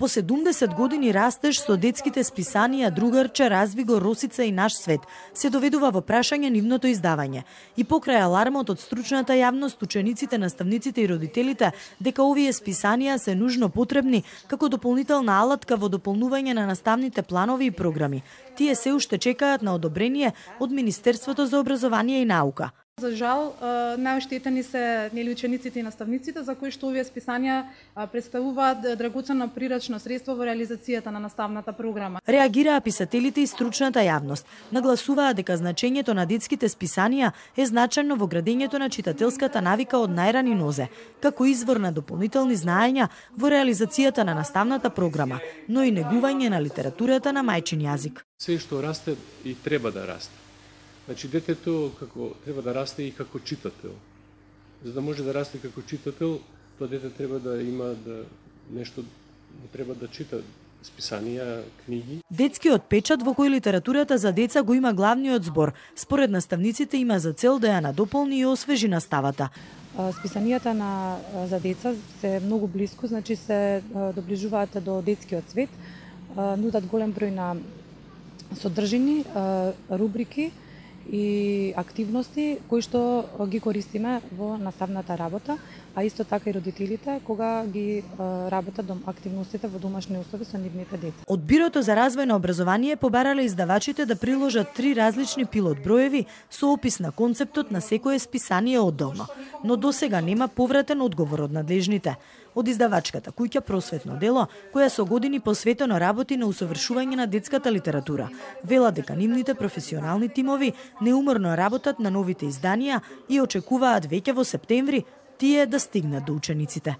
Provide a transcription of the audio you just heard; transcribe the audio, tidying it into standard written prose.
По 70 години растеж со детските списанија Другарче, Развиго, Росица и Наш свет се доведува во прашање нивното издавање. И покрај алармот од стручната јавност, учениците, наставниците и родителите дека овие списанија се нужно потребни како дополнителна алатка во дополнување на наставните планови и програми. Тие се уште чекаат на одобрение од Министерството за образование и наука. За жал, најоштетени се учениците и наставниците, за кои што овие списанија представуваат драгоценно прирачно средство во реализацијата на наставната програма. Реагираа писателите и стручната јавност. Нагласуваа дека значењето на детските списанија е значајно во градењето на читателската навика од најрани нозе, како извор на дополнителни знаења во реализацијата на наставната програма, но и негување на литературата на мајчин јазик. Се што расте и треба да расте. Значи, детето како треба да расте и како читател. За да може да расте како читател, тоа дете треба да има нешто, треба да чита списанија, книги. Детскиот печат во кој литературата за деца го има главниот збор, според наставниците има за цел да ја надополни и освежи наставата. Списанијата за деца се многу блиску, значи се доближуваат до детскиот свет, нудат голем број на содржини, рубрики и активности кои што ги користиме во наставната работа, а исто така и родителите кога ги работат активностите во домашни услови со нивните деца. Од Бирото за развој на образование побарале издавачите да приложат 3 различни пилот броеви со опис на концептот на секое списание одделно, но досега нема повратен одговор од надлежните. Од издавачката куќа Просветно дело, која со години посветено работи на усовршување на детската литература, вела дека нивните професионални тимови неуморно работат на новите изданија и очекуваат веќе во септември тие да стигнат до учениците.